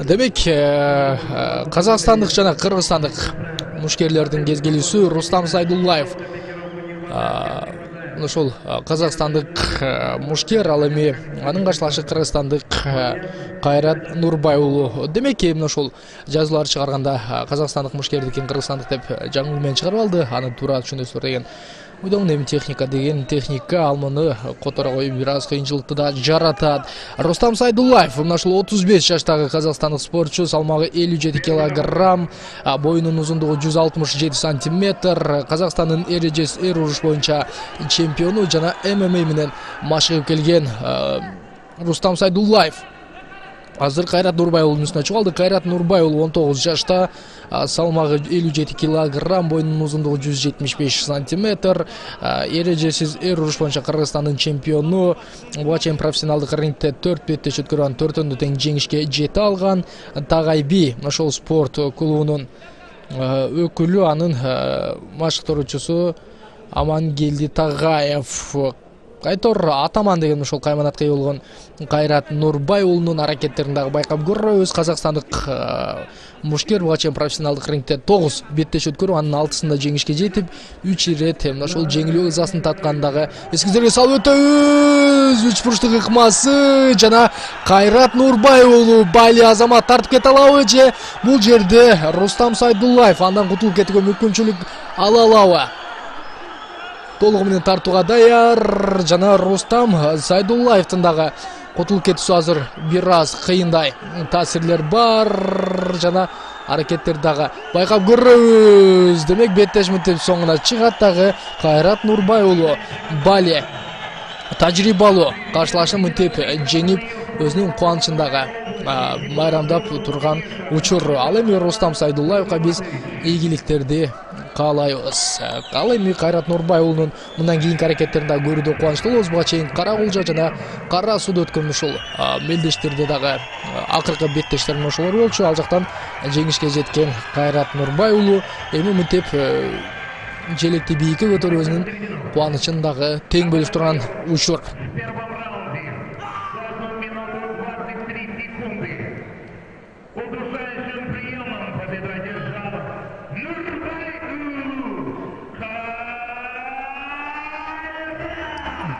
Демек, казакстандык жана кыргызстандык мушкерлердин кезгелүүсү Рустам Сайдуллаев. Ошол казакстандык мушкер, ал эми анын каршылашы кыргызстандык Кайрат Нурбай уулу. Демек, эмне ошол жазуулар чыгарганда казакстандык мушкердикин кыргызстандык деп жаңылуу менен чыгарып алды. Аны туура түшүнөсүздөр деген уйдомун. Эми техника деген техника, ал муну которо коюп бир аз кыйынчылыкты да жаратат. Рустам Сайдуллаев мына ушул 35 жаштагы казакстандык спортчу, салмагы 57 килограмм, боюнун узундугу 167 сантиметр, Казакстандын эр уруш боюнча чемпиону жана ММА менен машыгып келген Рустам Сайдуллаев азыр Кайрат Нурбай уулунун үстүнө чыгып алды. Кайрат Нурбай уулу 19 жашта, салмагы 57 килограмм, боюнун узундугу 175 сантиметр, эрежесиз эр уруш боюнча Кыргызстандын чемпиону. Буга чейин профессионалдык рингте 4 беттеш өткөргөн, 4-өндө тең жеңишке жете алган. Тагайби ошол спорт клубунун өкүлү, анын машыктыруучусу Амангелди Тагаев. Кайтор атаман деген ошол кайманатка ээ болгон Кайрат Нурбай уулунун аракеттерин дагы байкап көрөбүз. Казакстандык мушкер буга чейин профессионалдык рингте 9 беттеш өткөрүп, анын 6-сында жеңишке жетип, 3 ирет ошол жеңилүү ызасын таткандагы эскизерге салып өтөбүз. 3 бурчтук ыкмасы жана Кайрат Нурбай уулу Бали Азамат тартып кете алабы же бул жерде Рустам Сайдуллаев андан кутулуп кетүүгө мүмкүнчүлүк ала алабы? Толугу менен тартууга даяр жана Рустам Сайдуллаевдин дагы кутулуп кетүүсү азыр бир аз кыйындай. Таасирлер бар жана аракеттер дагы байкап көрөбүз. Демек, беттеш мынтип соңуна чыгат дагы Кайрат Нурбай уулу Бали тажрыйбалуу каршылашын мынтип жеңип, өзүнүн кубанычын дагы майрамдап турган учур. Ал эми Рустам Сайдуллаевга биз ийгиликтерди каалайбыз. Ал эми Кайрат Нурбай уулунун мындан кийинки аракеттерин дагы көрүүдө кубанычтуу болобуз. Буга чейин Кара Кулжа жана Кара Сууда өткөн ушул мелдештерде дагы акыркы беттештер ошолор болчу. Ал жактан жеңишке жеткен Кайрат Нурбай уулу эми мынтип желекти бийикке көтөрүп өзүнүн кубанычын дагы тең бөлүшүп турган учур.